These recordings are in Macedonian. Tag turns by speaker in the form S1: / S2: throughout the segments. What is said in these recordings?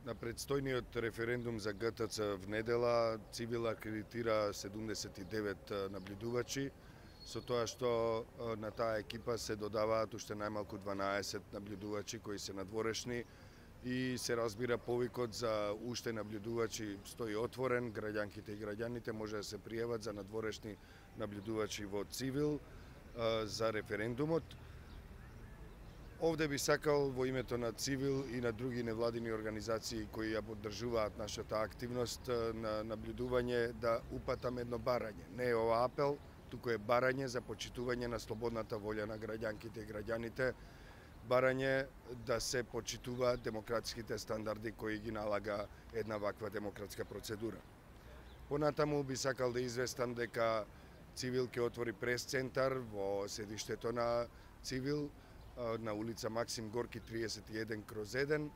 S1: На предстојниот референдум за ГТЦ внедела, Цивил акредитира 79 наблюдувачи, со тоа што на таа екипа се додаваат уште најмалку 12 наблюдувачи кои се надворешни и се разбира повикот за уште наблюдувачи стои отворен, граѓанките и граѓаните може да се пријават за надворешни наблюдувачи во Цивил за референдумот. Овде би сакал во името на Цивил и на други невладини организации кои ја поддржуваат нашата активност на наблюдување да упатам едно барање. Не е ова апел, туку е барање за почитување на слободната волја на граѓанките и граѓаните, барање да се почитуваат демократските стандарди кои ги налага една ваква демократска процедура. Понатаму би сакал да известам дека Цивил ќе отвори прес-центар во седиштето на Цивил, на улица Максим Горки 31/1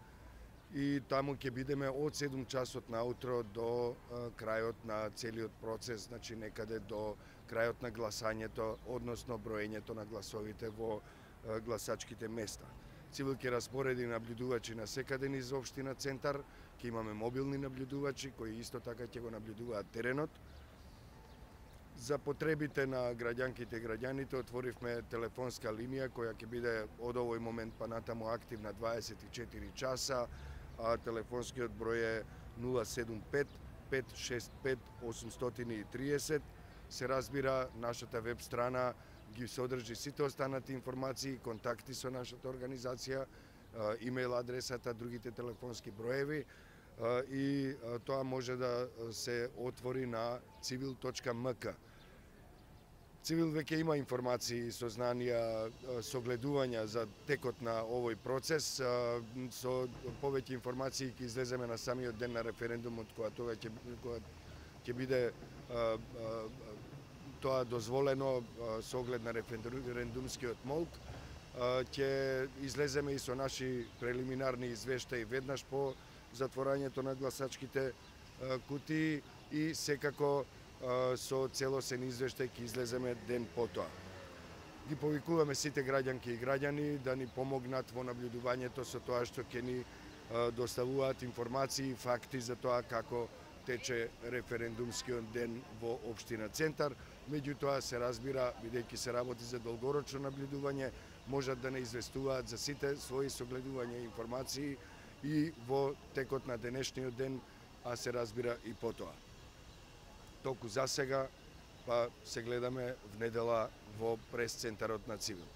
S1: и таму ќе бидеме од 7 часот наутро до крајот на целиот процес, значи некаде до крајот на гласањето, односно броењето на гласовите во гласачките места. Цивил ќе распореди наблюдувачи на секаде низ општина Центар, ќе имаме мобилни наблюдувачи кои исто така ќе го наблюдуваат теренот. За потребите на граѓанките и граѓаните отворивме телефонска линија која ќе биде од овој момент па натаму активна 24 часа, а телефонскиот број е 075 565 830. Се разбира, нашата веб страна ги содржи сите останати информации, контакти со нашата организација, имејл адресата, другите телефонски броеви и тоа може да се отвори на civil.mk. Цивил веќе има информации, сознанија, согледувања за текот на овој процес. Со повеќе информации ќе излеземе на самиот ден на референдумот, кога ќе биде тоа дозволено со оглед на референдумскиот молк. Ќе излеземе и со наши прелиминарни извештаи веднаш по затворањето на гласачките кутии и секако со целосен извештај ќе излеземе ден потоа. Ги повикуваме сите граѓанки и граѓани да ни помогнат во наблюдувањето со тоа што ќе ни доставуваат информации и факти за тоа како тече референдумскиот ден во општина Центар. Меѓутоа се разбира, бидејќи се работи за долгорочно наблюдување, можат да не известуваат за сите своји согледувања и информации и во текот на денешниот ден, а се разбира и потоа. Толку за сега, па се гледаме внедела во прес-центарот на Цивил.